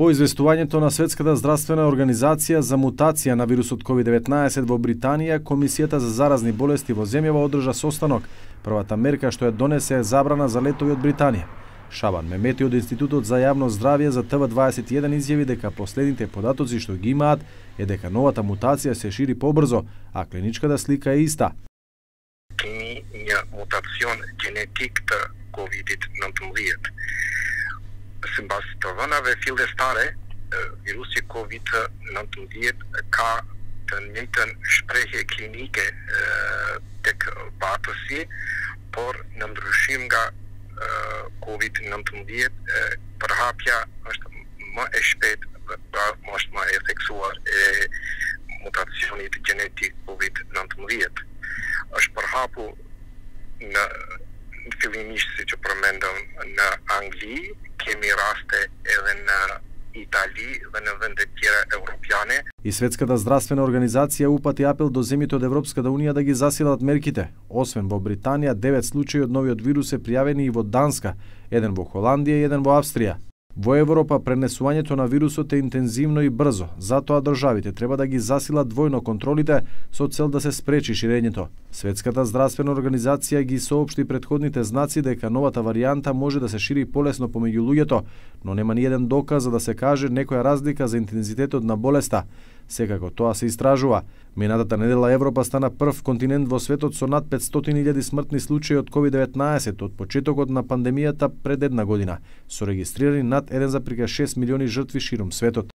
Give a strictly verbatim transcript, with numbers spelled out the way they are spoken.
По известувањето на Светската здравствена организација за мутација на вирусот ковид деветнаесет во Британија, Комисијата за заразни болести во земјава одржа состанок. Првата мерка што ја донесе е забрана за летови од Британија. Шабан Мемети од Институтот за јавно здравје за Т В дваесет и еден изјави дека последните податоци што ги имаат е дека новата мутација се шири побрзо, а клиничката слика е иста. Kemi një mutacion genetik të kovidit nëntëmbëdhjetë. Sipas të dhënave fillestare, virusi kovid nëntëmbëdhjetë ka të njëjtën shprehje klinike tek batësi, por në ndryshim nga kovid nëntëmbëdhjetë, përhapja është më e shpejtë, pra është më e theksuar e mutacionit genetik kovid nëntëmbëdhjetë. Është përhapu në fillimisht, siç e përmendëm, në Angli, kemi raste edhe në Итали dhe në vende tjera европјане. И Светската здравствена организација упати апел до земјите од Европската унија да ги засилат мерките. Освен во Британија, девет случаи од новиот вирус се пријавени и во Данска, еден во Холандија и еден во Австрија. Во Европа пренесувањето на вирусот е интензивно и брзо, затоа државите треба да ги засилат двојно контролите со цел да се спречи ширењето. Светската здравствена организација ги соопшти претходните знаци дека новата варијанта може да се шири полесно помеѓу луѓето, но нема ни еден доказ за да се каже некоја разлика за интензитетот на болеста. Секако тоа се истражува. Минатата недела Европа стана прв континент во светот со над петстотини илјади смртни случаи од ковид деветнаесет од почетокот на пандемијата пред една година, со регистрирани над еден зарез и шест милиони жртви ширум светот.